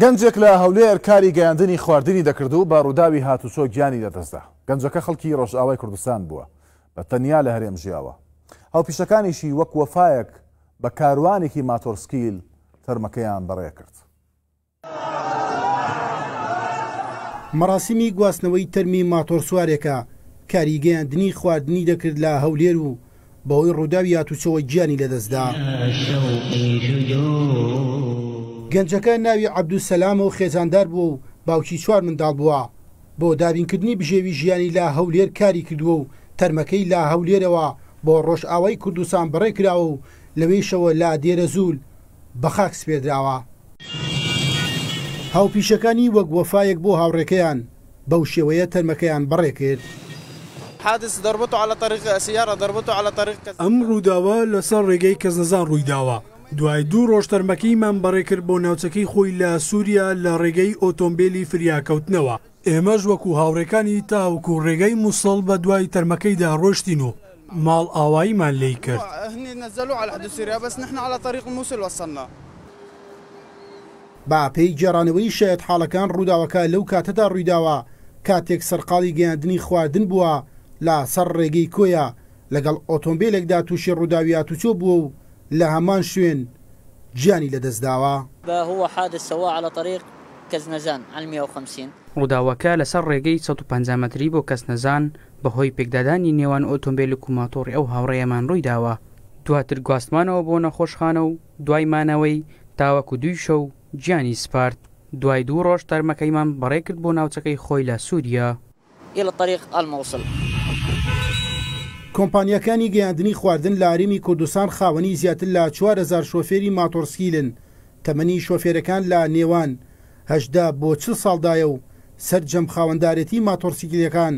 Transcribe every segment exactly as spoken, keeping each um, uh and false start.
گەنجێک لە هەولێر کاری گەیاندنی خواردنی دەکرد و بە ڕووداوی هاتوچۆ گیانی لەدەستدا. گەنجەکە خەڵکی ڕۆژئاوای کوردستان بووە، بە تەنیا لە هەرێم ژیاوە. هاوپیشەکانیشی وەک وەفایەک بە کاروانێکی ماتۆرسکیل تەرمەکەیان بەڕێ کرد. مەراسیمی گواستنەوەی تەرمی ماتۆرسوارێکە کاری گەیاندنی خواردنی دەکرد لە هەولێر و بەهۆی ڕووداوی هاتوچۆوە گیانی لەدەستدا. گەنجەکە ناوی عەبدولسەلامە و خێزاندار بووە و باوکی چوار منداڵ بووە. بۆ دابینکردنی بژێوی ژیانی لە هەولێر کاری کردووە و تەرمەکەی لە هەولێرەوە بۆ ڕۆژئاوای کوردستان بەڕێ کراوە و لەوێشەوە لە دێرەزوول بە خاک سپێردراوە. هاوپیشەکانی وەک وەفایەک بۆ هاوڕێکەیان بەو شێوەیە تەرمەکەیان بەڕێ کرد. ئەم ڕووداوە لەسەر ڕێگەی کەسنەزان ڕوویداوە. دوای دوو ڕۆژ تەرمەکەیمان بەڕێ کرد بۆ ناوچەکەی خۆی لە سووریا لە ڕێگەی ئۆتۆمبیلی فریاکەوتنەوە. ئێمەش وەکو هاوڕێکانی تاوەکو ڕێگەی موسڵ بە دوای تەرمەکەیدا ڕۆشتین و ماڵ ئاواییمان لێی کرد. با پێی گێڕانەوەی شایەت حاڵەکان ڕووداوەکە لەو کاتەدا ڕوویداوە کاتێک سەرقاڵی گەیاندنی خواردن بووە لە سەر ڕێگەی کۆیە لەگەڵ ئۆتۆمبیلێکدا تووشی ڕووداوی هاتوچۆ بووە و لە هەمان شوێن گیانی لەدەستداوە. ڕووداوەکە لەسەر ڕێگەی سەد و پەنجا مەتری بۆ کەسنەزان بەهۆی پێکدادانی نێوان ئۆتۆمبیلێک و ماتۆڕی ئەو هاوڕێیەمان ڕوویداوە. دواتر گواستمانەوە بۆ نەخۆشخانە و دوای مانەوەی تاوەکو دووی شەو گیانی سپارد. دوای دوو ڕۆژ تەرمەکەیمان بەڕێ کرد بۆ ناوچەکەی خۆی لە سووریا. کۆمپانیەکانی گەیاندنی خواردن لە هەرێمی کوردستان خاوەنی زیاتر لە چوار هەزار شۆفێری ماتۆرسکیلن. تەمەنی شۆفێرەکان لە نێوان هەژدە بۆ چل ساڵدایە و سەرجەم خاوەندارێتی ماتۆرسیکلەکان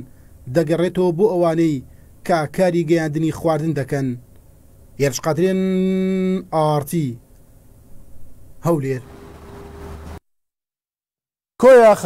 دەگەڕێتەوە بۆ ئەوانەی کە کاری گەیاندنی خواردن دەکەن. هێرش قادرێن، ئاڕتی، هەولێر. کۆیە.